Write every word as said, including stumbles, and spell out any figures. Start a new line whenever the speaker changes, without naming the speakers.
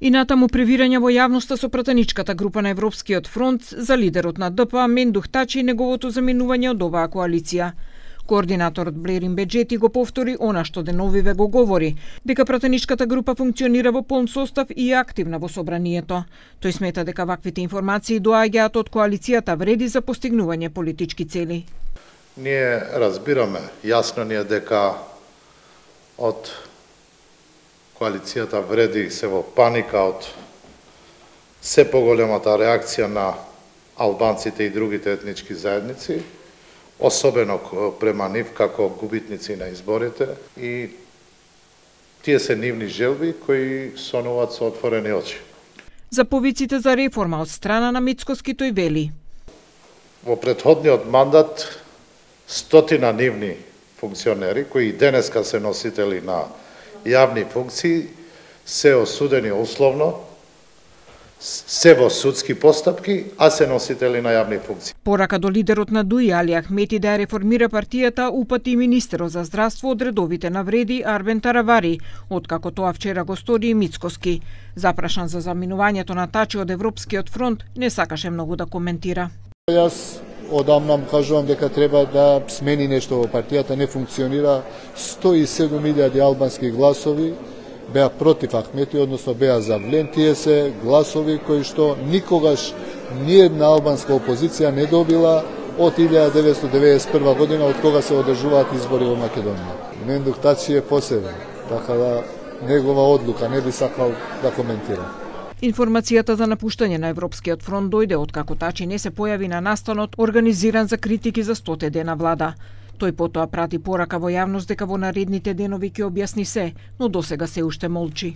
И натаму превирање во јавноста со пратеничката група на Европскиот фронт за лидерот на Д П Мендух Тачи и неговото заминување од оваа коалиција. Координаторот Блерин Беџети го повтори она што деновиве го говори, дека пратеничката група функционира во полн состав и е активна во собранието. Тој смета дека ваквите информации доаѓаат од коалицијата вреди за постигнување политички цели.
Ние разбираме, јасно ни е дека од коалицијата вреди се во паника од се поголемата реакција на албанците и другите етнички заедници, особено према нив како губитници на изборите, и тие се нивни желби кои сонуваат со отворени очи.
За повиците за реформа од страна на Мицкоски тој вели:
Во претходниот мандат стотина нивни функционери кои и денеска се носители на јавни функции се осудени условно, се во судски постапки, а се носители на јавни функции.
Порака до лидерот на ДУИ Али Ахмети да ја реформира партијата упати и министерот за здравство од редовите навреди Арбен Таравари, откако тоа вчера го стори и Мицкоски. Запрашан за заминувањето на Тачи од Европскиот фронт, не сакаше многу да коментира.
Јас одамна кажувам дека треба да смени нешто во партијата, не функционира. сто и седум илјади албански гласови беа против Ахмети, односно беа за влен. Тие се гласови кои што никогаш ниедна албанска опозиција не добила од илјада деветстотини деветдесет и прва година, од кога се одржуваат избори во Македонија. Мендух Тачи е посебен, така да негова одлука не би сакал да коментира.
Информацијата за напуштање на Европскиот фронт дојде откако Тачи не се појави на настанот организиран за критики за стоте дена влада. Тој потоа прати порака во јавност дека во наредните денови ќе објасни се, но досега се уште молчи.